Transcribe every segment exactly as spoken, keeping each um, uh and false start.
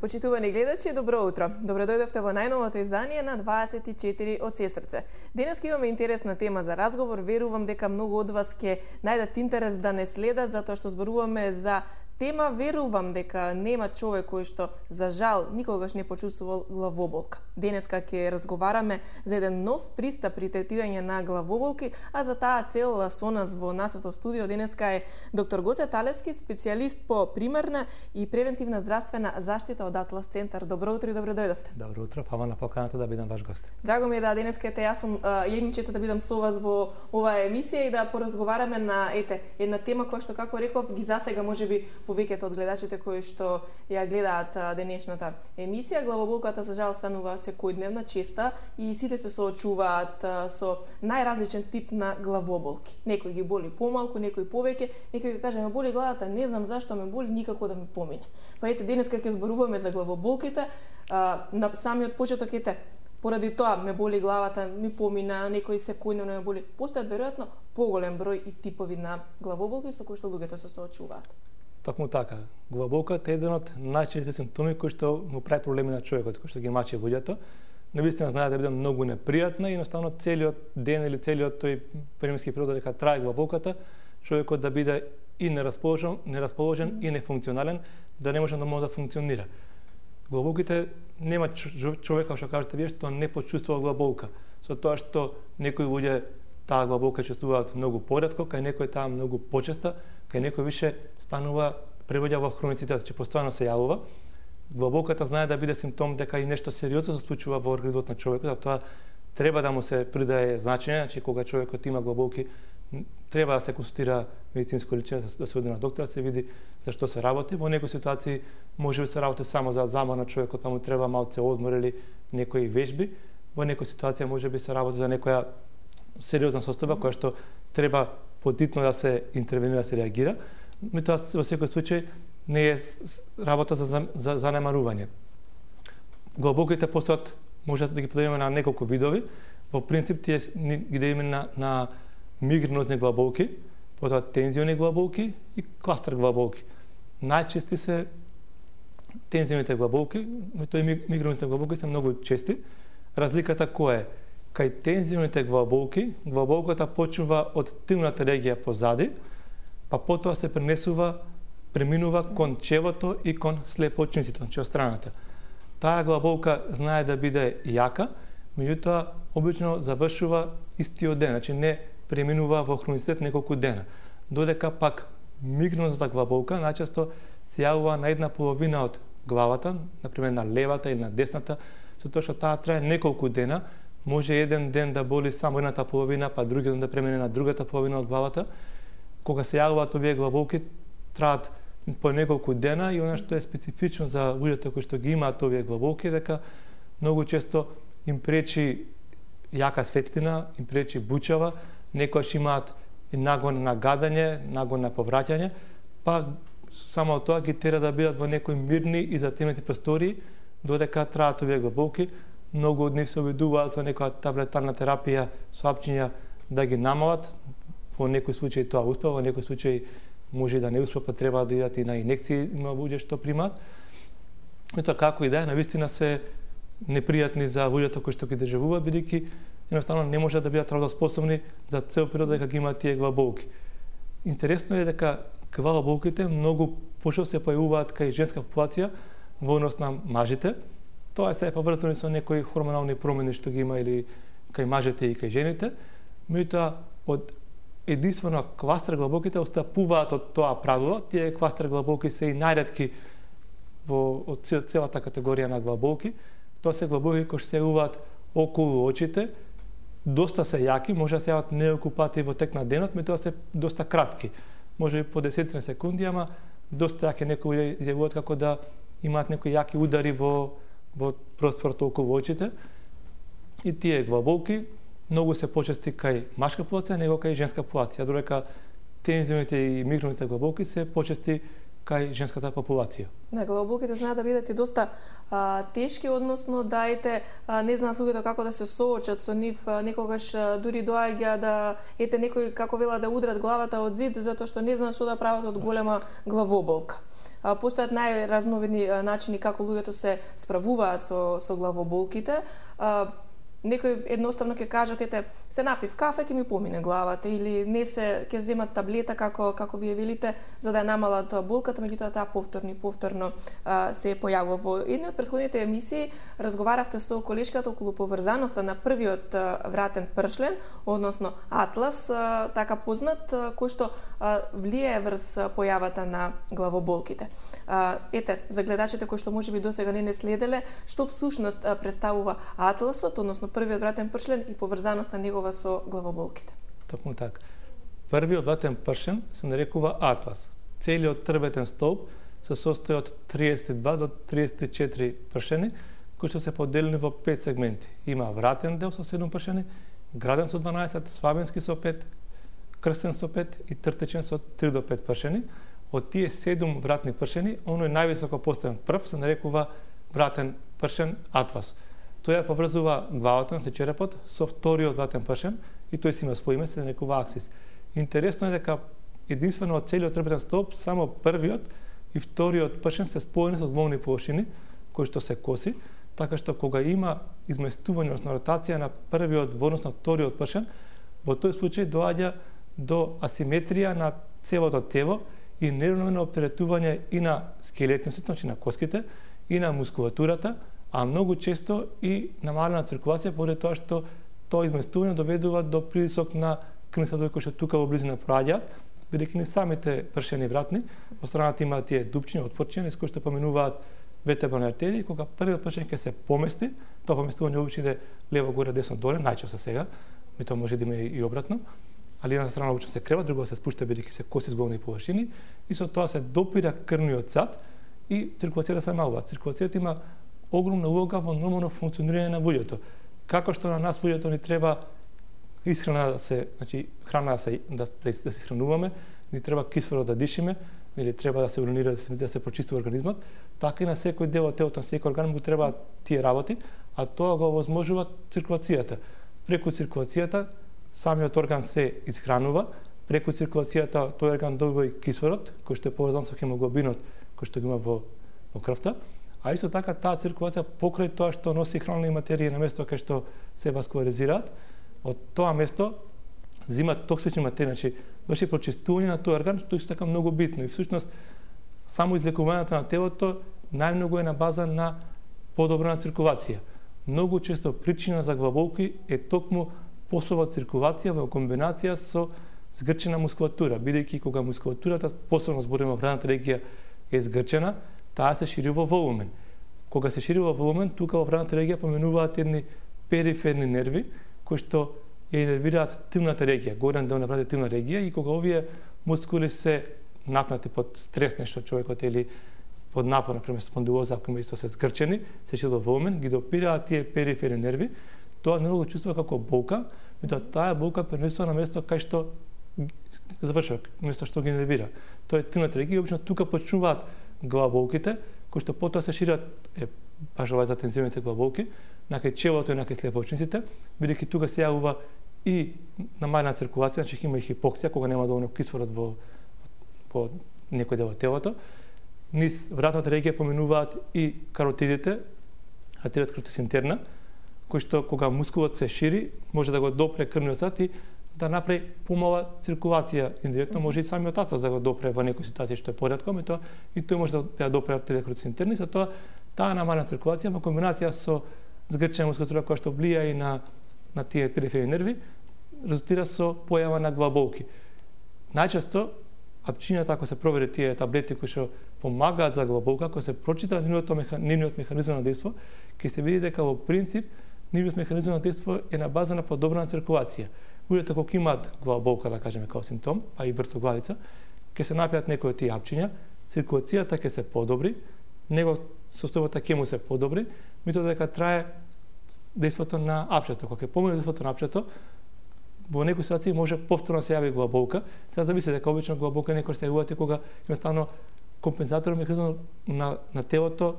Почитувани гледачи, добро утро. Добро дојдовте во најновото издание на дваесет и четири од Сесрце. Денес имаме интересна тема за разговор. Верувам дека многу од вас ќе најдат интерес да не следат, затоа што зборуваме за тема, верувам дека нема човек кој што за жал никогаш не почувствувал главоболка. Денеска ќе разговараме за еден нов пристап при третирање на главоболки, а за таа цел со нас во нашето студио денеска е доктор Гоце Талевски, специјалист по примарна и превентивна здравствена заштита од Атлас центар. Добро утро и добро дојдовте. Добро утро, фала на поканата да бидам ваш гост. Драго ми е да денеска ете јас сум ја имам честа да бидам со вас во оваа емисија и да поразговараме на ете една тема која што како реков ги засега можеби повеќето од гледачите кои што ја гледаат денешната емисија. Главоболката за жал станува секојдневна, честа и сите се соочуваат со најразличен тип на главоболки. Некој ги боли помалку, некој повеќе, некој ќе каже ме боли главата, не знам зашто ме боли, никако да ми помине. Па ете денеска ќе зборуваме за главоболките, а, на самиот почеток ете поради тоа ме боли главата, ми помина, некој секојдневно ме боли. Постојат веројатно поголем број и типови на главоболки со кои што луѓето се соочуваат. Токму така. Главоболката е еден од најчести симптоми кои што му прави проблеми на човекот, кој што ги мачи луѓето. Навистина знае да биде многу непријатна и едноставно целиот ден или целиот тој временски период дека трае главоболката, човекот да биде и нерасположен, нерасположен и нефункционален, да не може нормално да функционира. Главоболките нема човек, како што кажете вие, што не почувствува главоболка. Со тоа што некои луѓе таа главоболка чувствуваат многу поретко, кај некој таа многу почеста, кај некој више станува превоѓа во хроницитет, че постојано се јавува. Главоболката знае да биде симптом дека и нешто сериозно се случува во организмот на човекот, затоа треба да му се придае значење, значи кога човекот има главоболки, треба да се консултира медицинско личе, да се оди на доктор, да се види за што се работи. Во некои ситуации може да се работи само за замор на човекот, па му треба малце одмор или некои вежби. Во некои ситуации може би се работи за некоја сериозна состојба која што треба подитно да се интервенира, да се реагира. Меѓутоа во секој случај не е работа за, за занемарување. Главоболките постојат, може да ги поделиме на неколку видови. Во принцип тие ги делиме на, на мигренозни главоболки, потоа тензиони главоболки и кластер главоболки. Најчести се тензионите главоболки, меѓутоа и мигренозните главоболки се многу чести. Разликата која е? Кај тензионите главоболки, главоболката почнува од тимната регија позади, па потоа се пренесува, преминува кон чевото и кон слепоочниците, значи од страната. Таа главоболка знае да биде јака, меѓутоа обично завршува истиот ден, значи не преминува во хроницитет неколку дена. Додека пак мигренозната главоболка најчесто се јавува на една половина од главата, например на левата или на десната, со тоа што таа трае неколку дена. Може еден ден да боли само едната половина, па другиот ден да премине на другата половина од главата. Кога се јавуваат овие главоболки, траат по неколку дена и она што е специфично за луѓето кои што ги имаат овие главоболки дека многу често им пречи јака светлина, им пречи бучава, некојаш имаат и нагон на гадање, нагон на повраќање, па само тоа ги тера да бидат во некои мирни и затемнети простории додека траат овие главоболки. Многу од нив се обидуваат со некоја таблетарна терапија со апчиња да ги намалат. Во некои случаи тоа успева, во некои случаи може да не успева, па треба да идат и на инекции, има луѓе што примаат. Меѓутоа како и да е, навистина се непријатни за луѓето кои што ги доживуваат, бидејќи едноставно не можат да бидат работоспособни за цел период дека ги имаат тие главоболки. Интересно е дека главоболките многу пошто се појавуваат кај женска популација во однос на мажите. Тоа се е поврзано со некои хормонални промени што ги има или кај мажите и кај жените. Меѓутоа од единствено кластер главоболките остапуваат од тоа правило. Тие кластер главоболки се и најретки во од целата категорија на главоболки. Тоа се главоболки кои се јавуваат околу очите, доста се јаки, може да се јават неколку пати во тек на денот, меѓутоа се доста кратки. Може би по десет секунди, ама доста јаки, некои изјавуваат како да имаат некои јаки удари во во просторот околу очите. И тие главоболки многу се почести кај машка популација, него кај женска популација, додека тензионите и мигренозните главоболки се почести кај женската популација. Да, главоболките знаат да бидат и доста а, тешки, односно да ете а, не знаат луѓето како да се соочат со нив, а, некогаш а, дури доаѓа да ете некои како вела да удрат главата од зид затоа што не знаат што да прават од голема главоболка. А, постојат најразновидни а, начини како луѓето се справуваат со со главоболките. А, Некои едноставно ќе кажат, ете, се напив кафе, ќе ми помине главата, или не се, ќе земат таблета, како, како вие велите, за да ја намалат болката, меѓутоа таа повторно и повторно а, се појавува. Во едни од претходните емисии разговаравте со колешката околу поврзаноста на првиот а, вратен пршлен, односно атлас, а, така познат, а, кој што а, влијае врз појавата на главоболките. А, ете, за гледачите кои што можеби досега не не следеле, што всушност а, представува атласот, односно првиот вратен пршлен и поврзаноста негова со главоболките. Токму така. Првиот вратен пршлен се нарекува атлас. Целиот трбетен столб се состои од триесет и два до триесет и четири пршени, кои што се поделени во пет сегменти. Има вратен дел со седум пршени, граден со дванаесет, свабенски со пет, крстен со пет и тртечен со три до пет пршени. Од тие седум вратни пршени, оној највисоко поставен прв се нарекува вратен пршен атлас. Тој ја поврзува главата на черепот со вториот вратен пршен и тој си има свој име, се нарекува аксис. Интересно е дека единствено од целиот трбетен столб само првиот и вториот пршен се споени со волни површини кои што се коси, така што кога има изместување, односно ротација на првиот во однос на вториот пршен, во тој случај доаѓа до асиметрија на целото тело и неравномерно оптеретување и на скелетниот, значи на коските, и на мускулатурата, а многу често и намалена циркулација поради тоа што тоа изместување доведува до притисок на крвни садови кои што тука во близина проаѓаат, бидејќи не самите пршени вратни, во страната има тие дупчини, отворчини, с кои што поминуваат вертебрални артерии, кога првиот пршен ќе се помести, тоа поместување обично иде лево горе, десно доле, најчесто сега, и тоа може да има и обратно, али една страна обично се крева, друга се спушта бидејќи се коси зболни површини и со тоа се допира крвниот сад и циркулацијата се намалува. Циркулацијата има огромна улога во нормално функционирање на луѓето. Како што на нас луѓето ни треба исхрана да се, значи храна да се да, да, да се исхрануваме, ни треба кислород да дишиме, или треба да се уринира, да се, да се прочистува организмот, така и на секој дел од телото, на секој орган му треба тие работи, а тоа го овозможува циркулацијата. Преку циркулацијата самиот орган се исхранува, преку циркулацијата тој орган добива и кислород, кој што е поврзан со хемоглобинот, кој што го има во, во крвта, а исто така таа циркулација покрај тоа што носи хранливи материи на место кај што се васкуларизираат, од тоа место зимат токсични материи, значи врши прочистување на тој орган, што исто така многу битно и всушност само излекувањето на телото најмногу е на база на подобрена циркулација. Многу често причина за главоболки е токму послаба циркулација во комбинација со згрчена мускулатура, бидејќи кога мускулатурата, посебно збориме во вратната регија, е згрчена, таа се шири во волумен. Кога се шири во волумен, тука во вратната регија поменуваат едни периферни нерви, кои што ја инервираат тилната регија, горен дел на вратната тилна регија, и кога овие мускули се напнати под стрес, нешто човекот или под напор, например спондилоза, ако има исто се згрчени, се шири во волумен, ги допираат тие периферни нерви, тоа не го чувствува како болка, меѓутоа таа болка пренесува на место кај што завршува, место што ги нервира. Тоа е тилната регија, обично тука почнуваат главоболките, кои што потоа се шират, е, баш ова за тензионите главоболки, накај челото и накај слепоочниците, бидејќи тука се јавува и намалена циркулација, значи има и хипоксија, кога нема доволно кислород во, во некој дел од телото. Низ вратната регија поминуваат и каротидите, артеријата каротидис интерна, кој што кога мускулот се шири, може да го допре крвниот сад и да направи помала циркулација индиректно, може и самиот атлас да го допре во некои ситуации што е поретко, меѓутоа и тој може да ја допре артеријата каротидис интерна, и со тоа таа намалена циркулација во комбинација со згрчена мускулатура која што влија и на на тие периферни нерви, резултира со појава на главоболки. Најчесто апчињата, ако се провери тие таблети кои што помагаат за главоболка, ако се прочита нивниот меха, механизам на дејство, ќе се види дека во принцип нивниот механизам на дејство е на база на подобрена циркулација. Луѓето кога имаат главоболка, да кажеме као симптом, а и вртоглавица, ќе се напијат некои од тие апчиња, циркулацијата ќе се подобри, него состојбата ќе му се подобри, меѓутоа дека трае дејството на апчето. Кога ќе помине дејството на апчето, во некои ситуации може повторно се јави главоболка. Сега зависи дека обично главоболка некој се јавува кога едноставно компензаторен механизам на, на телото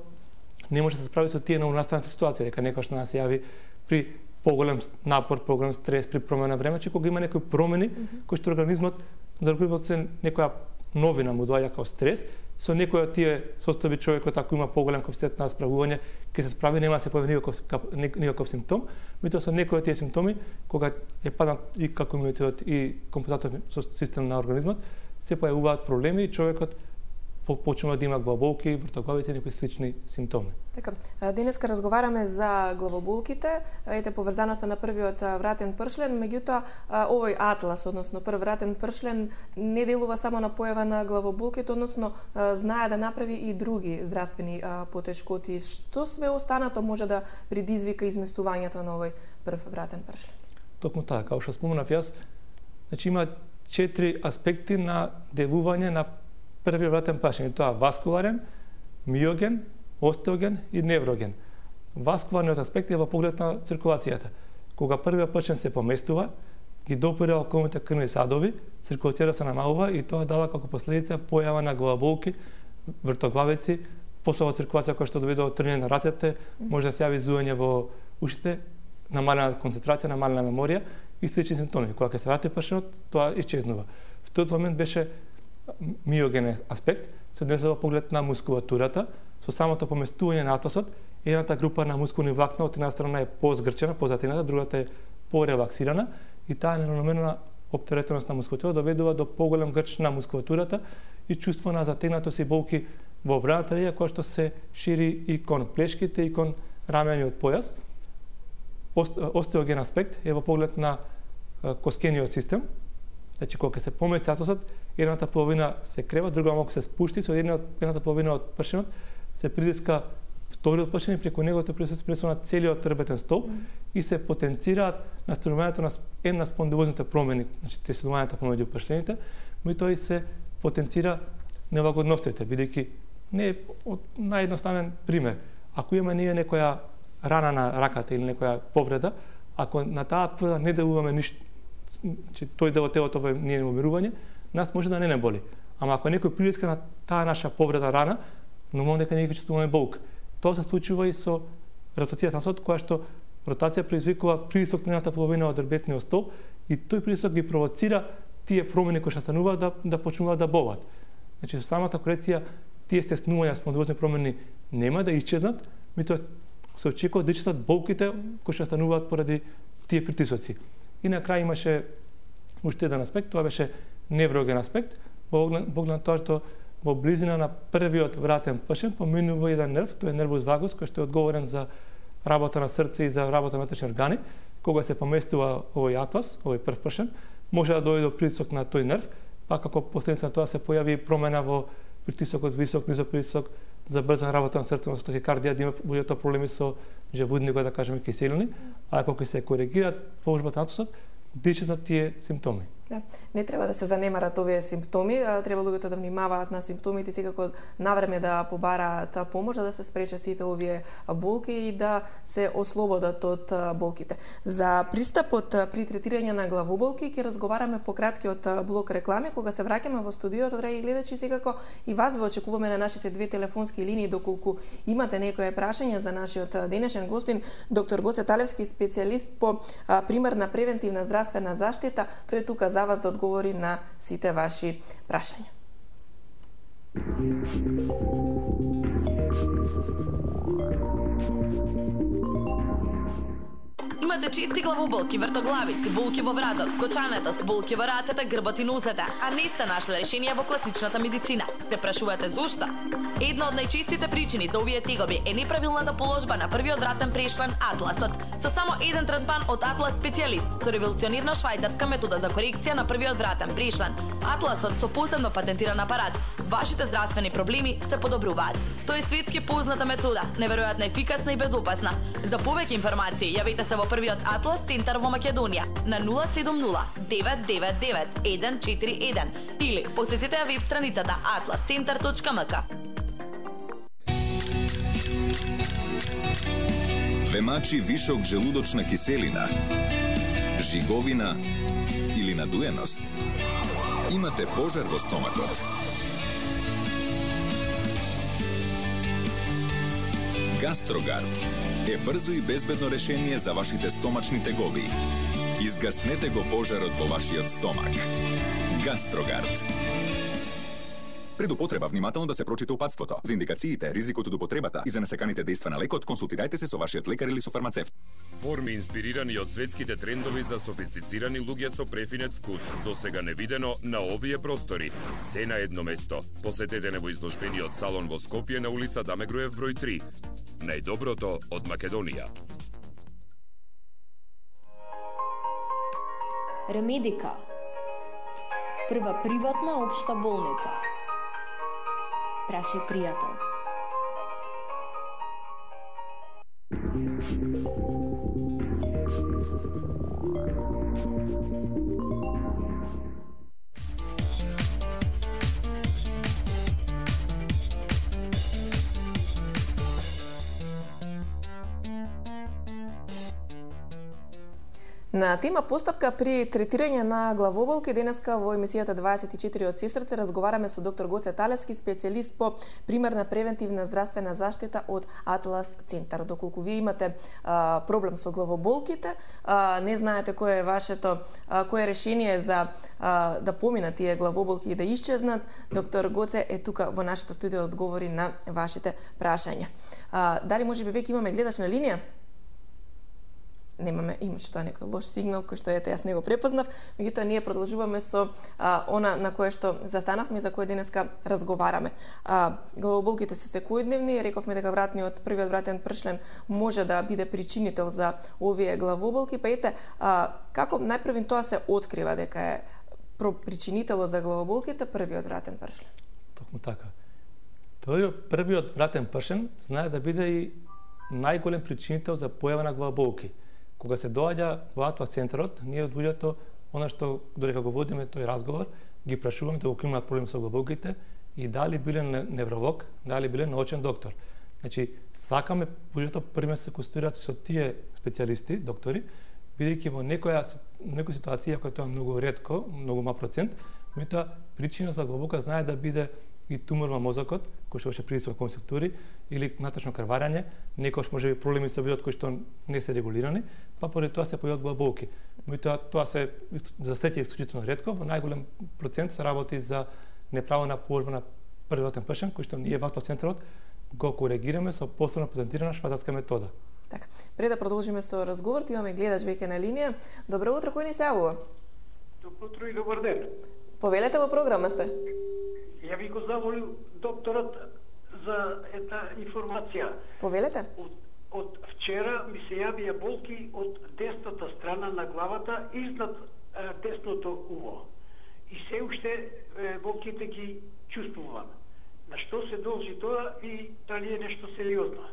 не може да се справи со тие новонастанати ситуации, дека некојаш на нас се јави при поголем напор, поголем стрес, при промена време, че кога има некои промени, mm -hmm. кои што организмот, за организмот се некоја новина му доаѓа како стрес, со некој од тие состојби човекот ако има поголем капацитет на справување, ќе се справи, нема да се појави никаков, никаков симптом, меѓутоа со некои од тие симптоми, кога е паднат и како имунитетот и компензаторен систем на организмот, се појавуваат проблеми и човекот почнува да има главоболки, вртоглавици и некои слични симптоми. Така, денеска разговараме за главоболките, ете поврзаноста на првиот вратен пршлен, меѓутоа овој атлас, односно прв вратен пршлен, не делува само на појава на главоболките, односно знае да направи и други здравствени потешкоти. Што све останато може да предизвика изместувањето на овој прв вратен пршлен? Токму така, како што споменав јас, значи има четири аспекти на делување на првиот вратен пршлен, тоа васкуларен, миоген, остеоген и невроген. Васкуларниот аспект е во поглед на циркулацијата. Кога првиот пршлен се поместува, ги допира околните крвни садови, циркулацијата се намалува и тоа дава како последица појава на главоболки, вртоглавици, пособа циркулација која што доведе до трење на рацете, може да се јави зуење во ушите, намалена концентрација, намалена меморија и слични симптоми. Кога ќе се врати пршенот, тоа исчезнува. В тој момент беше миоген аспект, се однесува поглед на мускулатурата, со самото поместување на атласот, едната група на мускулни влакна од една страна е позгрчена, позатината, другата е порелаксирана и таа неравномерна оптеретеност на мускулатура доведува до поголем грч на мускулатурата и чувство на затегнатост и болки во обраната линија која што се шири и кон плешките и кон рамениот појас. Остеоген аспект е во поглед на коскениот систем. Значи, кога се помести атласот, едната половина се крева, друга малку се спушти, со едната половина од пршенот се притиска вториот пршен и преку него се притиска на целиот трбетен стол mm. и се потенцираат настанувањето на една спондилозните промени, значи тесувањето помеѓу пршените, но и тој се потенцира нелагодноста, бидејќи не е од наједноставен пример. Ако имаме ние некоја рана на раката или некоја повреда, ако на таа повреда не делуваме ништо, че тој дел од телото во ние умирување, нас може да не не боли. Ама ако некој притиска на таа наша повреда рана, нормално дека ние ќе чувствуваме болка. Тоа се случува и со ротацијата на сот, која што ротација предизвикува притисок на едната половина од трбетниот стол и тој притисок ги провоцира тие промени кои што стануваат да, да почнуваат да болат. Значи, со самата корекција, тие стеснувања, спондилозни промени нема да исчезнат, меѓутоа се очекува да исчезнат болките кои што стануваат поради тие притисоци. И на крај имаше уште еден аспект, тоа беше невроген аспект, во поглед на тоа што во близина на првиот вратен пршен поминува еден нерв, тој е нервус вагус, кој што е одговорен за работа на срце и за работа на внатрешни органи. Кога се поместува овој атлас, овој прв пршен, може да дојде до притисок на тој нерв, па како последица на тоа се појави промена во притисокот, висок, низок притисок, забрзана работа на срцето, со тахикардија, да има буѓето проблеми со жевудникот, да кажеме киселини, а ако се коригираат положбата на атласот, да исчезнат тие симптоми. Да. Не треба да се занемарат овие симптоми, треба луѓето да внимаваат на симптомите, секако навреме да побараат помош, да се спречат сите овие болки и да се ослободат од болките. За пристапот при третирање на главоболки ќе разговараме по краткиот блок реклами, кога се враќаме во студиото, драги гледачи, секако и вас ве очекуваме на нашите две телефонски линии, доколку имате некое прашање за нашиот денешен гостин, доктор Гоце Талевски, специјалист по примарна превентивна здравствена заштита. Тој е тука за вас да одговори на сите ваши прашања. Имате чести главоболки, вртоглавици, болки во вратот, вкочанетост, болки во рацете, грбот и нозете, а не сте нашли решение во класичната медицина. Се прашувате зошто? Една од најчестите причини за овие тегоби е неправилната положба на првиот вратен прешлен атласот. Со само еден третман од Атлас специјалист, со револуционирна швајцарска метода за корекција на првиот вратен прешлен. Атласот со посебно патентиран апарат. Вашите здравствени проблеми се подобруваат. Тоа е светски позната метода, неверојатно ефикасна и безопасна. За повеќе информации јавете се во првиот Атлас центар во Македонија на нула седум нула девет девет девет еден четири еден или посетете ја веб страницата атлас центар точка ем ка. Ве мачи вишок желудочна киселина, жиговина или надуеност? Имате пожар во стомакот? Гастрогард е брзо и безбедно решение за вашите стомачни тегови. Изгаснете го пожарот во вашиот стомак. Гастрогард. Пред употреба внимателно да се прочита упатството. За индикациите, ризикот од употребата и за несаканите дејства на лекот, консултирајте се со вашиот лекар или со фармацевт. Форми инспирирани од светските трендови за софистицирани луѓе со префинет вкус, досега невидено на овие простори. Се на едно место. Посетете не во изложбениот салон во Скопје на улица Даме Груев број три. Најдоброто од Македонија. Ремедика. Прва приватна општа болница. Прашај пријател. На тема постапка при третирање на главоболки, денеска во емисијата дваесет и четири од сестрце разговараме со доктор Гоце Талевски, специјалист по примарна превентивна здравствена заштита од Атлас центар. Доколку вие имате а, проблем со главоболките, а, не знаете кое е вашето, а, кое е решение за а, да поминат тие главоболки и да исчезнат, доктор Гоце е тука во нашето студио да одговори на вашите прашања. А, дали можеби веќе имаме гледач на линија? Немаме, имаше тоа некој лош сигнал кој што ете јас не го препознав, меѓутоа ние продолжуваме со а, она на кое што застанавме и за кое денеска разговараме. А, главоболките се секојдневни, рековме дека вратниот првиот вратен пршлен може да биде причинител за овие главоболки, па ете а, како најпрвин тоа се открива дека е причинителот за главоболките првиот вратен пршлен? Токму така. Тој првиот вратен пршлен знае да биде и најголем причинител за појава на главоболки. Кога се доаѓа во Атлас центарот, ние од луѓето, она што додека го водиме тој разговор, ги прашуваме доколку имаат проблем со главоболките и дали биле невролог, дали биле научен доктор. Значи, сакаме луѓето првено се консултираат со тие специјалисти, доктори, бидејќи во некоја некоја ситуација која тоа е многу ретко, многу мал процент, меѓутоа причина за главоболка знае да биде и тумор во мозокот, кој што ќе предизвика конструктури, или натачно крварење, некојаш може би проблеми со видот кои што не се регулирани, па поради тоа се појават главоболки. Меѓутоа тоа се за сеќа исклучително ретко, во најголем процент се работи за неправилна положба на првиот пршен, кој што ние во Атлас центарот го коригираме со посебно патентирана швајцарска метода. Така, пред да продолжиме со разговорот, имаме гледач веќе на линија. Добро утро, кој ни се јавува? Добро утро и добар ден. Повелете, во програма сте. Ја ви го заволил докторот за една информација. Повелете? Од, од вчера ми се јавија болки од десната страна на главата изнад е, десното уво. И се уште е, болките ги чувствувам. На што се должи тоа и дали е нешто сериозно?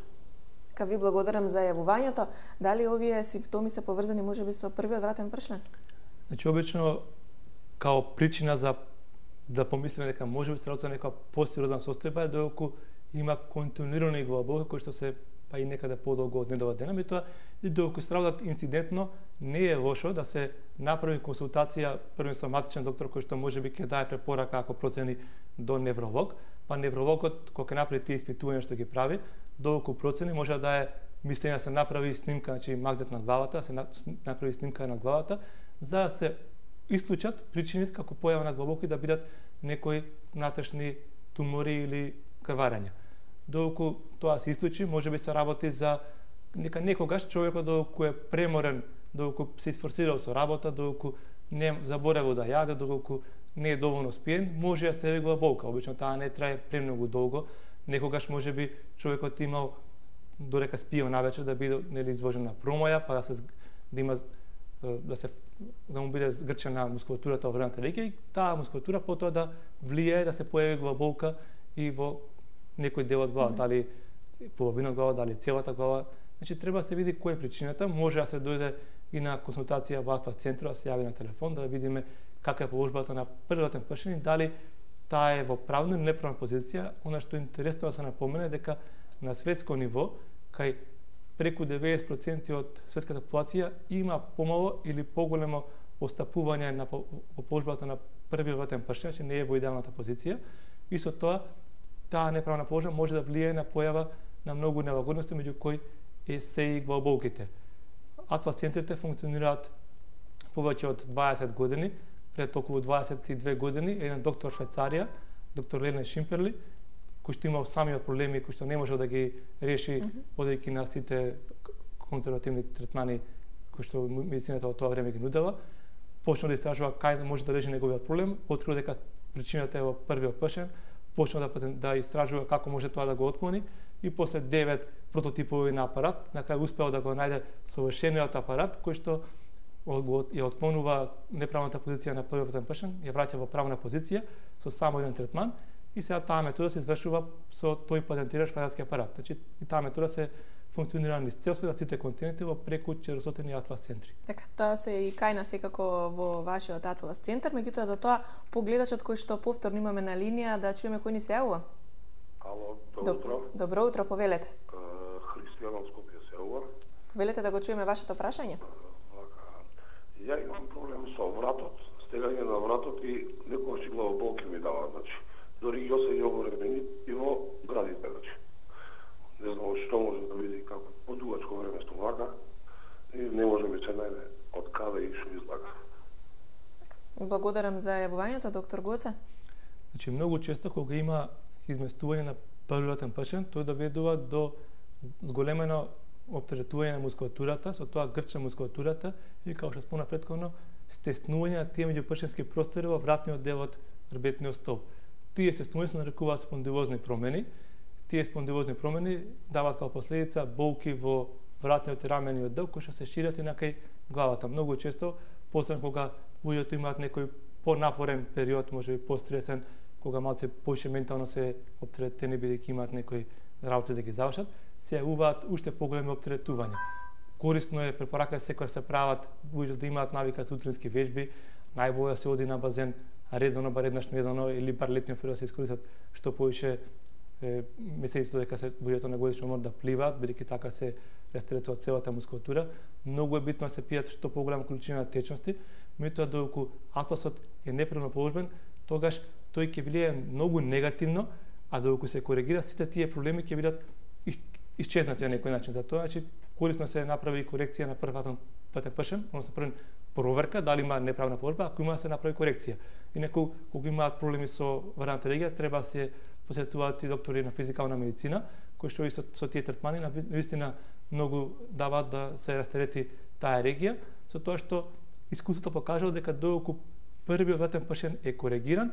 Ка ви благодарам за јавувањето. Дали овие симптоми се поврзани можеби со првиот вратен пршлен? Значи, обично, као причина за да помислиме дека може би се работи за некоја посериозна состојба е доколку има континуирани главоболки кои што се па и некаде подолго од недова дена, меѓутоа и доколку се работат инцидентно, не е лошо да се направи консултација првен со матичен доктор кој што можеби ќе даде препорака ако процени до невролог, па неврологот кога ќе направи тие испитувања што ги прави, доколку процени може да даде мислење да се направи снимка, значи магнет на главата, да се направи снимка на главата за да се исклучат причините како појава на главоболки да бидат некои внатрешни тумори или крварења. Доколку тоа се исклучи, може би се работи за нека некогаш човекот доколку е преморен, доколку се изфорсирал со работа, доколку не заборевал да јаде, доколку не е доволно спиен, може да се яви главоболка. Обично таа не трае премногу долго. Некогаш може би човекот имал додека спиел навечер да биде нели изложен на промоја, па да се да има да се да му биде згрчена мускулатурата во вредната река и таа мускулатура потоа да влијае да се појави главоболка и во некој дел од глава, mm -hmm. дали половина од глава, дали целата глава. Значи треба да се види која е причината, може да се дојде и на консултација во Атлас центарот, да се јави на телефон, да видиме каква е положбата на првиот пршен, дали таа е во правна или неправна позиција. Она што е интересно да се напомене дека на светско ниво, кај преку деветдесет проценти од светската популација има помало или поголемо остапување на положбата на првиот вратен пршен, значи не е во идеалната позиција. И со тоа, таа неправна положба може да влијае на појава на многу нелагодности меѓу кои е се и главоболките. Атлас центрите функционираат повеќе од дваесет години, пред околу дваесет и две години, еден доктор Швајцарија, доктор Лелен Шимперли, кој што имал самиот проблеми, кој што не можел да ги реши, одејќи на сите конзервативни третмани кои што медицината во тоа време ги нудела, почна да истражува кај може да реши неговиот проблем, открил дека причината е во првиот пашен, почна да, да истражува како може тоа да го отклони и после девет прототипови на апарат, на крај успеал да го најде совршениот апарат кој што го ја отклонува неправната позиција на првиот пашен, ја враќа во правна позиција со само еден третман и сега таа метода се извршува со тој патентиран швајцарски апарат. Значи и таа метода се функционира низ цел свет, сите континенти во преку четиристотини Атлас центри. Така, тоа се и кај нас секако во вашиот Атлас центар, меѓутоа за тоа погледачот кој што повторно имаме на линија да чуеме кој ни се јавува. Ало, добро утро. Добро утро, повелете. Христијан од Скопје се јавува. Повелете да го чуеме вашето прашање. Ја имам проблем со вратот, стегање на вратот и некојаш главоболки ми дава, значи. Дори ја се ја времени и во градите, значи. Не знам што може да види како подугачко време стомака и не може ми се најде од каде и што излага. Благодарам за јавувањето, доктор Гоце. Значи многу често кога има изместување на првиот пашен, тој доведува до зголемено оптеретување на мускулатурата, со тоа грча мускулатурата и како што спомнав претходно, стеснување на тие меѓупршенски простори во вратниот дел од хрбетниот столб. Тие стеснувања се нарекуваат спондилозни промени. Тие спондилозни промени даваат како последица болки во вратниот и рамениот дел кои што се шират и накај главата. Многу често, посебно кога луѓето имаат некој понапорен период, можеби постресен, кога малце поише ментално се оптеретени бидејќи имаат некои работи да ги завршат, се јавуваат уште поголеми оптеретувања. Корисно е, препорака секој се прават луѓето да имаат навика за утрински вежби, најбоље да се оди на базен редовно, бар еднаш неделно или бар летниот период да се искористат што поише месеците дека се луѓето на годишен одмор да пливаат, бидејќи така се растретува целата мускулатура. Многу е битно да се пијат што поголема количина на течности, меѓутоа додека атласот е непрерано положбен, тогаш тој ќе влијае многу негативно, а додека се коригира сите тие проблеми ќе бидат исчезнати на некој начин. Затоа значи корисно се направи корекција на првиот патен пашен, односно прва проверка дали има неправна положба, ако има се направи корекција. Инаку кога имаат проблеми со варната регија, треба да се посетуваат и доктори на физикална медицина, кои што и со, со тие третмани навистина многу даваат да се растерети таа регија, со тоа што искуството покажува дека додека првиот вратен пашен е коригиран,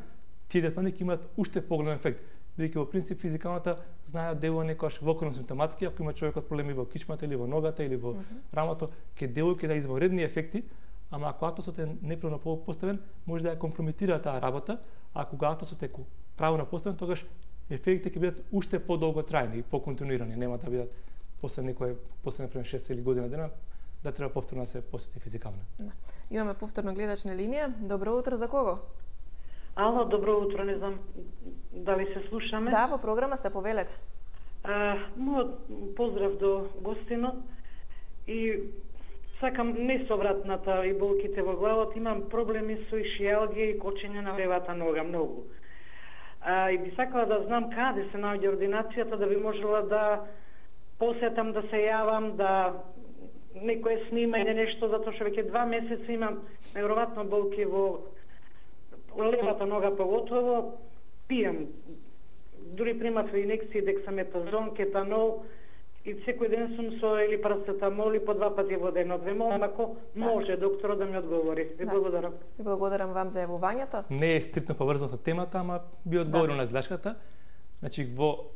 тие третмани ќе имаат уште поголем ефект. Бидејќи во принцип физикалната знае делува некојаш вокруно симптоматски, ако има човекот проблеми во кичмата или во ногата или во mm -hmm. рамото, ќе делува ќе да извонредни ефекти, ама ако атласот е неправилно поставен, може да ја компрометира таа работа, а кога атласот е правилно поставен, тогаш ефектите ќе бидат уште подолго трајни и поконтинуирани, нема да бидат после некој после например шест или година дена да треба повторно да се посети физикално. Да. Имаме повторно гледач на линија. Добро утро, за кого? Ало, добро утро, не знам дали се слушаме. Да, во програма сте, повелете. А, мојот поздрав до гостинот и сакам не со вратната и болките во главата, имам проблеми со ишијалгија и кочење на левата нога многу. А, и би сакала да знам каде се наоѓа ординацијата, да би можела да посетам, да се јавам, да некој снима или нешто, затоа што веќе два месеца имам неверојатно болки во левата нога поготово, пијам. Дури примав инекции дексаметазон, кетанол и секој ден сум со или парацетамол и по два пати во денот. Ве молам ако може докторот да ми одговори. Ви да. благодарам. Ви благодарам вам за јавувањето. Не е стриктно поврзано со темата, ама би одговорил да. на гледачката. Значи во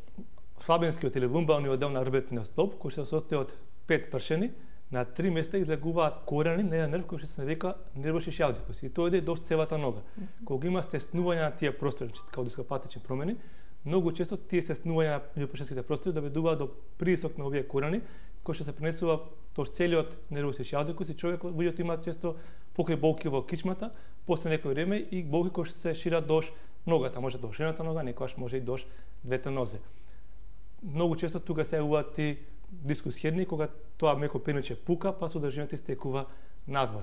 слабинскиот или лумбалниот дел на хрбетниот столб, кој се состои од пет пршени, на три места излегуваат корени на еден нерв кој што се нарека нервус ишијалдикус и тој иде до целата нога. Mm -hmm. Кога има стеснување на тие простори, како дископатични промени, многу често тие стеснувања на меѓупршенските простори доведуваат до притисок на овие корени, кој што се пренесува до целиот нервус ишијалдикус и човекот луѓето имаат често покрај болки во кичмата, после некој време и болки кои што се шират до ногата, може до шената нога, некогаш може и до двете нозе. Многу често тука се јавуваат и дискус херни, кога тоа меко пенуче пука, па содржината стекува надвор.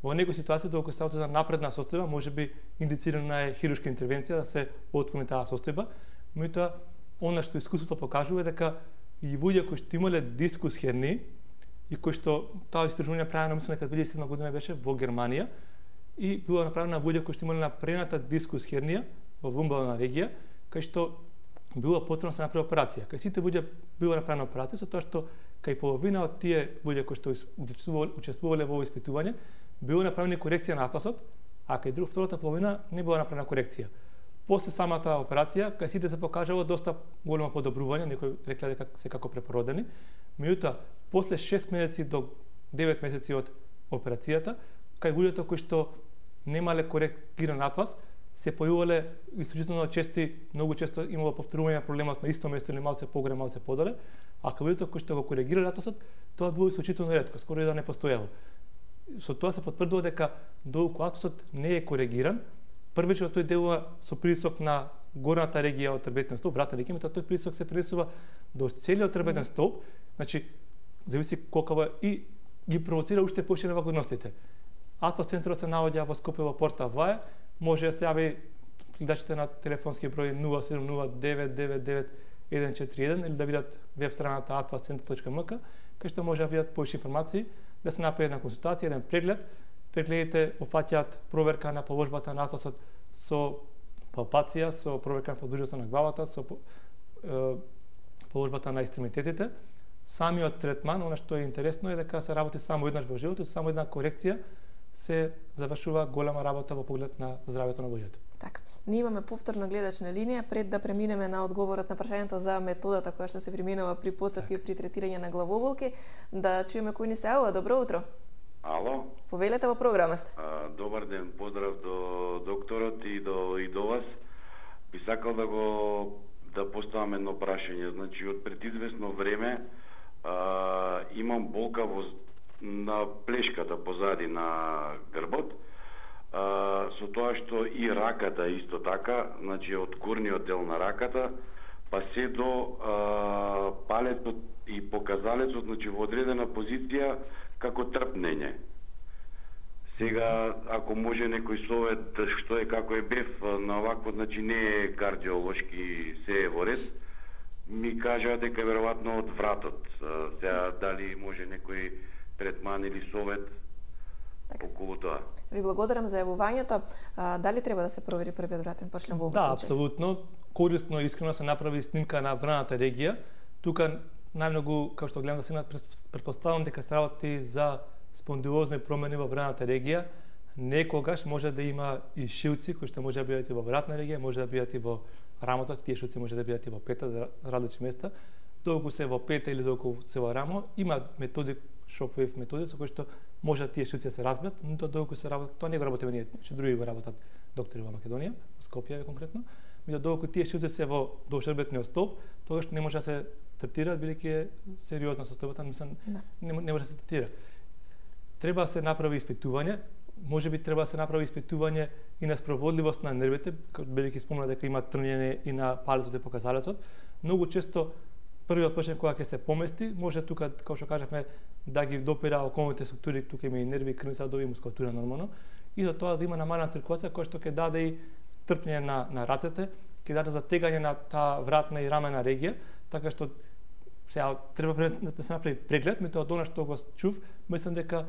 Во некои ситуации, докато ставате за напредна состојба, може би индицирана е хируршка интервенција да се отклони таа состојба, меѓутоа она што искуството покажува е дека и луѓе кои што имале дискус херни и кои што таа истражување направено мислам дека две илјади и седма година беше во Германија и било направено на луѓе кои што имале напрената дискус хернија во вумбална регија, кај што било потребно да се направи операција. Кај сите луѓе било направена операција со тоа што кај половина од тие луѓе кои што учествувале во испитување било направена корекција на атласот, а кај друг втората половина не била направена корекција. После самата операција, кај сите се покажало доста големо подобрување, некои рекле дека се како препородени. Меѓутоа, после шест месеци до девет месеци од операцијата, кај луѓето кои што немале коректиран атлас, се појавувале исклучително чести, многу често имало повторување проблемот на исто место или малце погоре, малце подоле, а кај луѓето кои што го коригирале атласот, тоа било исклучително ретко, скоро и да не постоело. Со тоа се потврдува дека доколку атласот не е коригиран, првично тој делува со притисок на горната регија од трбетен столб, вратна регија, меѓутоа тој притисок се пренесува до целиот трбетен столб, значи зависи колкава и ги провоцира уште повеќе невлагодностите. Атлас центарот се наоѓа во Скопје во Порта Ваја, може да се јави гледачите на телефонски број нула седум нула девет девет девет еден четири еден или да видат веб страната atlas center точка m k, кај што може да видат повеќе информации, да се направи една консултација, еден преглед. Прегледите опфаќаат проверка на положбата на атласот со палпација, со проверка на подложбата на главата, со е, положбата на екстремитетите. Самиот третман, она што е интересно е дека се работи само еднаш во животот, само една корекција се завршува голема работа во поглед на здравјето на луѓето. Така. Ние имаме повторно гледачна линија пред да преминеме на одговорот на прашањето за методата која што се применува при постапки и при третирање на главоболки, да чуеме кој ни се јавува. Добро утро. Ало. Повелете во програма сте. А, добар ден, поздрав до докторот и до и до вас. Би сакал да го да поставам едно прашање. Значи од пред известно време а, имам болка во на плешката позади на грбот. А, со тоа што и раката исто така, значи од горниот дел на раката, па се до а, палецот и показалецот, значи во одредена позиција како трпнење. Сега, ако може некој совет, што е како е бев на овакво, значи не е кардиолошки, се е во ред, ми кажа дека веројатно од вратот. Сега, дали може некој третман или совет така околу тоа? Ви благодарам за јавувањето. А, дали треба да се провери првиот вратен пошлем во овој да, случај? Да, апсолутно. Корисно и искрено се направи снимка на враната регија. Тука најмногу, како што гледам да се претпоставам дека се работи за спондилозни промени во враната регија. Некогаш може да има и шилци кои што може да бидат и во вратна регија, може да бидат и во рамото, тие шилци може да бидат и во пета, различни места. Доколку се во пета или доколку се во рамо, има методи, шоквейв методи со кои што може да тие шилци да се разбиат, но тоа доколку се работи, тоа не го работиме ние, че други го работат доктори во Македонија, во Скопје конкретно. Меѓутоа доколку тие шилци се во должрбетниот столб, тогаш не може да се третира, бидејќи е сериозна состојбата, мислам, да. не, не може да се третира. Треба да се направи испитување, можеби треба да се направи испитување и на спроводливост на нервите, бидејќи спомна дека има трнење и на палецот и показалецот. Многу често првиот пршен кога ќе се помести, може тука, како што кажавме, да ги допира околните структури, тука има и нерви, крвни садови, мускулатура нормално, и за тоа да има намалена циркулација која што ќе даде и трпнење на, на рацете, ќе даде затегање на таа вратна и рамена регија, така што сега треба да се направи преглед, меѓутоа од она што го чув, мислам дека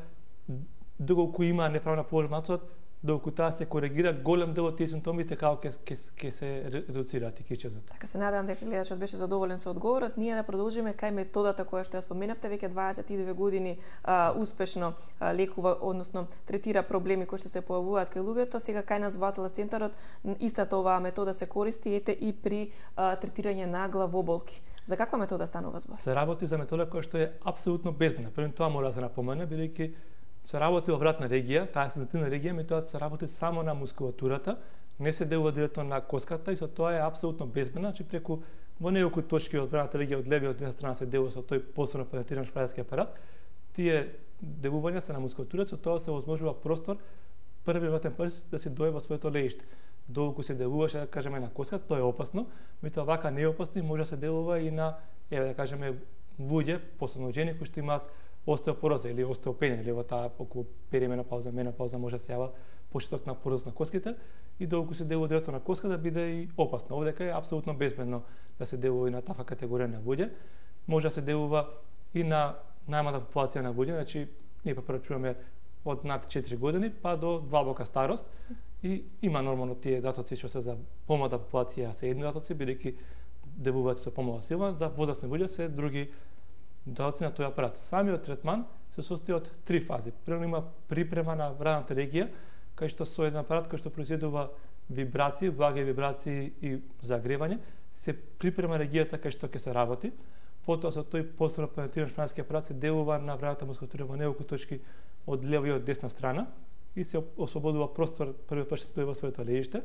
доколку има неправилна положба на атласот, доколку таа се коригира, голем дел од тие симптоми така ќе ќе ќе се редуцираат и ќе исчезнат. Така се надевам дека гледачот беше задоволен со одговорот. Ние да продолжиме кај методата која што ја споменавте, веќе дваесет и две години а, успешно а, лекува, односно третира проблеми кои што се појавуваат кај луѓето. Сега кај нас во Атлас центарот истата оваа метода се користи ете и при а, третирање на главоболки. За каква метода станува збор? Се работи за метода која што е апсолутно безбедна. Прво тоа мора да се напомене, бидејќи се работи во вратна регија, таа сензитивна регија, меѓутоа се работи само на мускулатурата, не се делува директно на коската и со тоа е апсолутно безбедна, значи преку во неколку точки од вратната регија од левиот и од страна се делува со тој посебно пенетриран шпајарски апарат. Тие делувања се на мускулатурата, со тоа се возможува простор први вратен прст да се дое во своето леиште. Доколку се делуваше, да кажеме, на коската, тоа е опасно, меѓутоа вака не е опасно и може да се делува и на, еве да кажеме, луѓе, посебно жени кои што имаат остеопороза или остеопенија, или во таа околу перименопауза, менопауза може да се јава почеток на пороза на коските и доколку се делува директно на коска да биде и опасно. Овдека е апсолутно безбедно да се делува и на таква категорија на луѓе. може да се делува и на најмалата популација на луѓе, значи ние препорачуваме од над четири години па до длабока старост и има нормално тие датоци што се за помлада популација се едни датоци, бидејќи делуваат со помала сила, за возрастни луѓе се други датоци на тој апарат. Самиот третман се состои од три фази. Прво има припрема на радната регија, кај што со еден апарат кој што произведува вибрации, благи вибрации и загревање, се припрема регијата кај што ќе се работи. Потоа со тој посебно пенетриран шпинатски апарат се делува на враната мускулатура во неколку точки од лева и од десна страна и се ослободува простор првиот пат што стои во своето лежиште,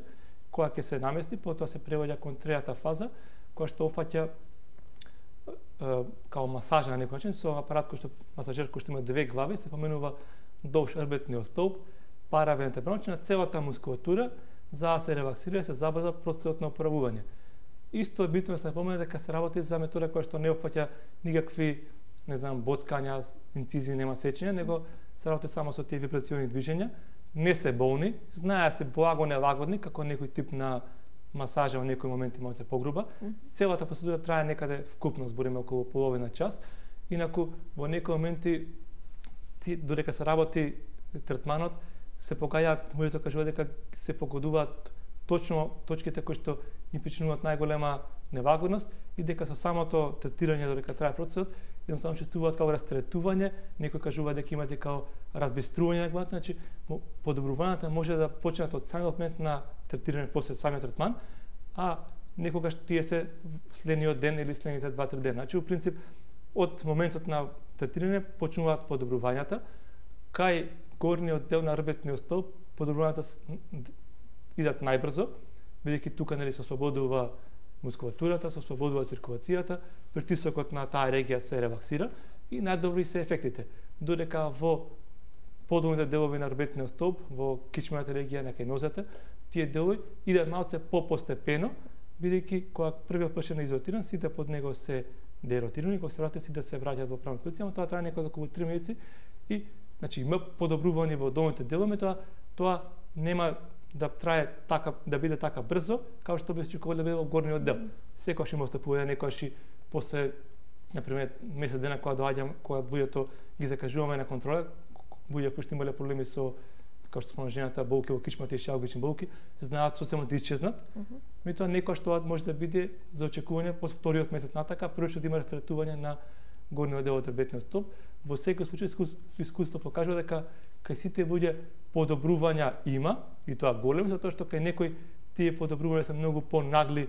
која ќе се намести, потоа се преваѓа кон третата фаза, која што опфаќа као масажа на некој начин со апарат кој што масажер кој што има две глави, се поменува долж рбетниот столб, паравертебрално, на целата мускулатура за да се релаксира и се забрза процесот на оправување. Исто е битно да се напомне дека се работи за метода која што не опфаќа никакви, не знам, боцкања, инцизии, нема сечење, него се работи само со тие вибрациони движења, не се болни, знае се благо нелагодни, како некој тип на масажа во некои моменти може се погруба. Целата процедура трае некаде вкупно, збориме околу половина час. Инаку во некои моменти додека се работи третманот, се погаѓаат, може да кажува дека се погодуваат точно точките кои што им причинуваат најголема нелагодност и дека со самото третирање додека трае процесот, едноставно чувствуваат како растретување, некој кажува дека имате како разбистрување на главата, значи подобрувањата може да почнат од самиот момент на третирање после самиот третман, а некогаш тие се следниот ден или следните два-три дена. Значи, во принцип, од моментот на третирање почнуваат подобрувањата, кај горниот дел на рбетниот столб подобрувањата идат најбрзо, бидејќи тука нели се ослободува мускулатурата, се ослободува циркулацијата, притисокот на таа регија се релаксира и најдобри се ефектите. Додека во подолните делови на рбетниот столб, во кичмената регија на кај нозете, тие делови идат малце попостепено, бидејќи кога првиот пат е изотиран, сите под него се деротирани, кога се вратат сите се враќаат во правна позиција, но тоа трае некои околу три месеци и значи има подобрување во долните делови, тоа тоа нема да трае така, да биде така брзо, како што би се очекувало да биде во горниот дел. Секогаш има остапување, некогаш и после, например, месец дена кога доаѓам, кога луѓето ги закажуваме на контрола, луѓе кои што имале проблеми со, како што спомна жената, болки во кичмата и шалгични болки, знаат соцема да исчезнат. Меѓутоа некогаш тоа може да биде за очекување после вториот месец натака, прво што да има растретување на горниот дел од рбетниот столб. Во секој случај искуство покажува дека кај сите луѓе подобрувања има, и тоа голем, затоа што кај некои тие подобрувања се многу понагли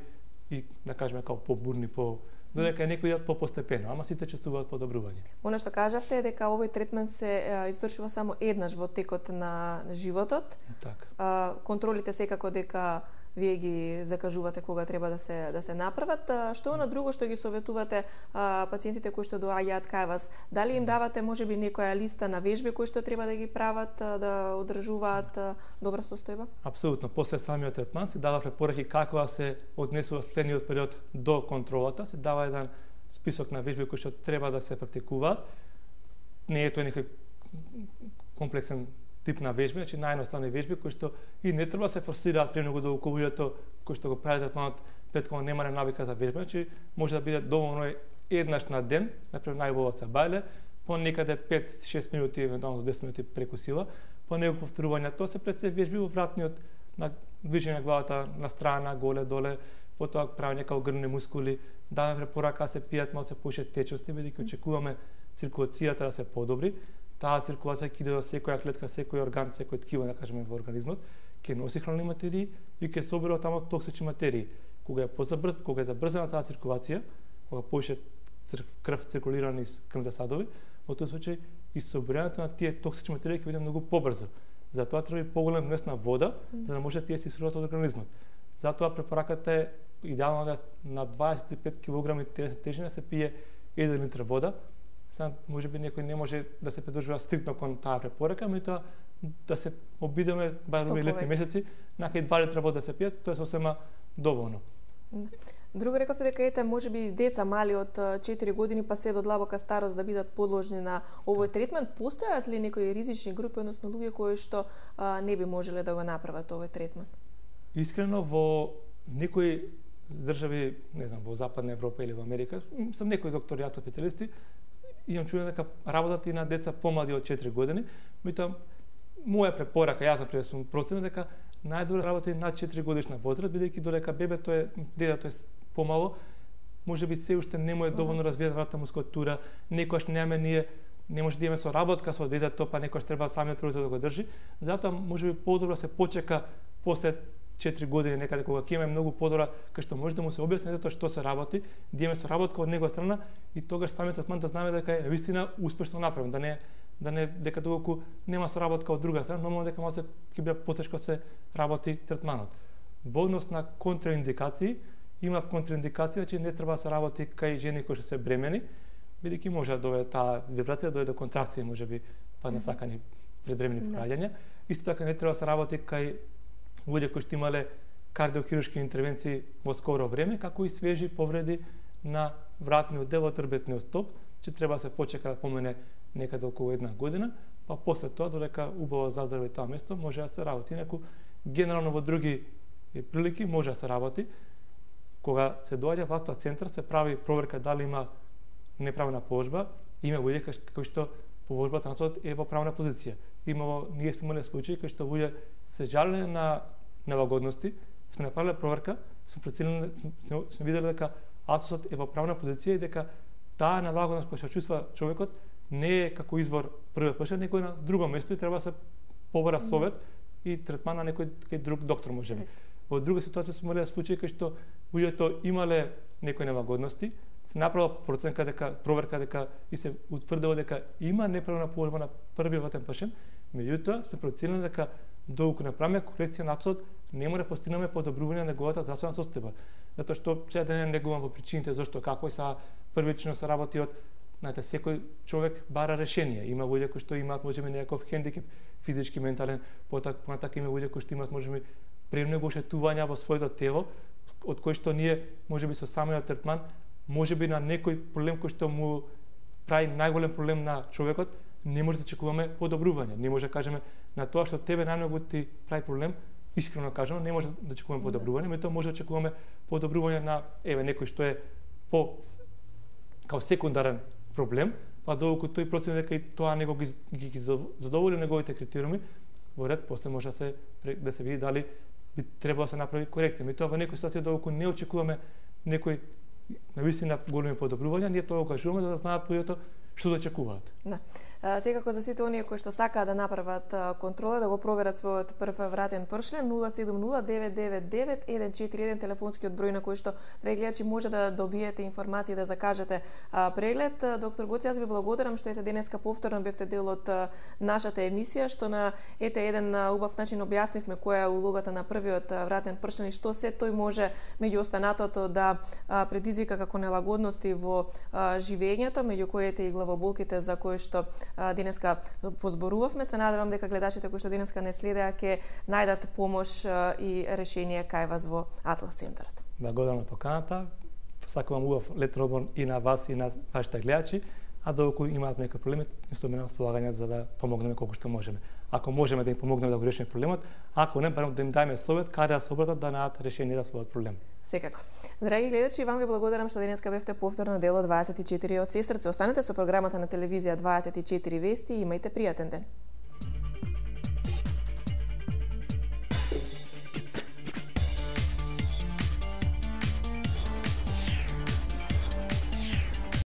и, да кажеме, како побурни, по додека некои идат попостепено, ама сите чувствуваат подобрување. Она што кажавте е дека овој третман се е, извршува само еднаш во текот на животот. Така. Контролите секако дека вие ги закажувате кога треба да се да се направат. Што на друго што ги советувате а, пациентите кои што доаѓаат кај вас? Дали им давате можеби некоја листа на вежби кои што треба да ги прават, да одржуваат добра состојба? Апсолутно. После самиот третман се дава препораки како да се однесува следниот период до контролата, се дава еден список на вежби кои што треба да се практикуваат. Не е тоа некој комплексен тип на вежби, значи наједноставни вежби кои што и не треба да се форсираат премногу до луѓето кои што го прават третманот пред кога немале навика за вежба, значи може да биде доволно еднаш на ден, например најубаво се бајле, по некаде пет-шест минути, евентуално десет минути преку сила, по неколку повторувања, тоа се пред се вежби во вратниот на движење на главата на страна, голе, доле, потоа правење како грдни мускули, даваме препорака да се пијат малку повеќе течности, бидејќи очекуваме циркулацијата да се подобри. Таа циркулација ќе иде до секоја клетка, секој орган, секој ткиво, да кажеме, во организмот, ќе носи хранни материи и ќе собира таму токсични материи. Кога е позабрз, кога е забрзана таа циркулација, кога повеќе крв циркулира низ крвните садови, во тој случај и собирањето на тие токсични материи ќе биде многу побрзо. Затоа треба и поголем внес на вода, за да може тие се исцедат од организмот. Затоа препораката е идеално да на дваесет и пет килограми тежина се пие еден литар вода. Сам можеби некој не може да се придржува стриктно кон таа препорака, меѓутоа да се обидеме барем во летни месеци, накај два литра вода да се пијат, тоа е сосема доволно. Друго рековте дека ете можеби деца мали од четири години па се до длабока старост да бидат подложни на овој третман. Постојат ли некои ризични групи, односно луѓе кои што а, не би можеле да го направат овој третман? Искрено во некои држави, не знам, во Западна Европа или во Америка, сум некои доктори, јато специјалисти, имам чуено дека работат и на деца помлади од четири години, меѓутоа моја препорака, јас например сум проценет дека најдобро работи над четири годишна возраст, бидејќи додека бебето е, детето е помало, можеби се уште не му е доволно развиена вратна мускулатура, некогаш немаме ние не може да имаме соработка со детето, па некогаш треба самиот родител да го држи. Затоа можеби подобро се почека после четири години некаде кога ќе имаме многу подобра кај што може да му се објасни детето што се работи, да имаме соработка од негова страна и тогаш самиот третман да знаме дека е вистина успешно направен, да не да не дека доколку нема соработка од друга страна, нормално дека може ќе биде потешко се работи третманот. Во однос на контраиндикации, има контраиндикација, че не треба да се работи кај жени кои што се бремени, бидејќи може да доведе таа вибрација, да доведе до контракции, можеби па несакани предбремени пораѓања. Исто така не треба да се работи кај луѓе кои што имале кардиохируршки интервенции во скоро време, како и свежи повреди на вратниот дел од рбетниот стоп, че треба да се почека да помине некаде околу една година, па после тоа додека убаво заздрави тоа место може да се работи. Инаку генерално во други прилики може да се работи. Кога се доаѓа во автоа центар се прави проверка дали има неправна положба, има луѓе кои што положбата на тоа е во правна позиција. Имало, ние сме имале случаи кај што луѓе се жалеле на нелагодности, сме направиле проверка, сме прецениле, сме, сме виделе дека атосот е во правна позиција и дека таа нелагодност која се чувства човекот не е како извор првиот пашен, некој на друго место и треба да се побара совет и третман на некој кај друг доктор можеби. Во друга ситуација сме имале случаи кај што луѓето имале некои нелагодности, се направила проценка дека проверка дека и се утврдило дека има неправилна положба на првиот ватен пашен, меѓутоа сме проценили дека доколку направиме корекција на атосот, не може да постигнеме подобрување на неговата здравствена состојба. Затоа што сега да не негувам во причините зашто како и са првично се работи од знаете, секој човек бара решение. Има луѓе кои што имаат можеби некаков хендикеп физички, ментален, понатака има луѓе кои што имаат можеби премногу ошетувања во своето тело, од кои што ние можеби со самиот третман, можеби на некој проблем кој што му прави најголем проблем на човекот, не може да очекуваме подобрување. Не може да кажеме на тоа што тебе најмногу ти прави проблем, искрено кажано, не може да очекуваме подобрување, меѓутоа може да очекуваме подобрување на еве некој што е по као секундарен проблем, па доколку тој процени дека и тоа него ги, ги, ги задоволи неговите критериуми, во ред после може да се да се види дали би требало да се направи корекција. Меѓутоа во некои ситуации доколку не очекуваме некој навистина големи подобрувања, ние тоа го кажуваме за да знаат луѓето што да очекуваат. Да. Секако за сите оние кои што сакаат да направат контрола, да го проверат својот прв вратен пршлен, нула седум нула девет девет девет еден четири еден телефонскиот број на кој што прегледачи може да добиете информации да закажете преглед. Доктор Гоци, јас ви благодарам што ете денеска повторно бевте дел од нашата емисија, што на ете еден убав начин објаснивме која е улогата на првиот вратен пршлен и што се тој може меѓу останатото да предизвика како нелагодности во живењето, меѓу коите и главоболките за кои што денеска позборувавме. Се надевам дека гледачите кои што денеска не следеа ќе најдат помош и решение кај вас во Атлас центарот. Благодарам на поканата. Сакувам убав летен одмор и на вас и на вашите гледачи, а доколку имаат некои проблеми, стоиме на располагање за да помогнеме колку што можеме. Ако можеме да им помогнеме да го решиме проблемот, ако не, барем да им дајме совет каде да се обратат да најдат решение за својот проблем. Секако. Драги гледачи, вам ви благодарам што денеска бевте повторно дел од дваесет и четири од Сестрце. Останете со програмата на телевизија дваесет и четири Вести и имајте пријатен ден.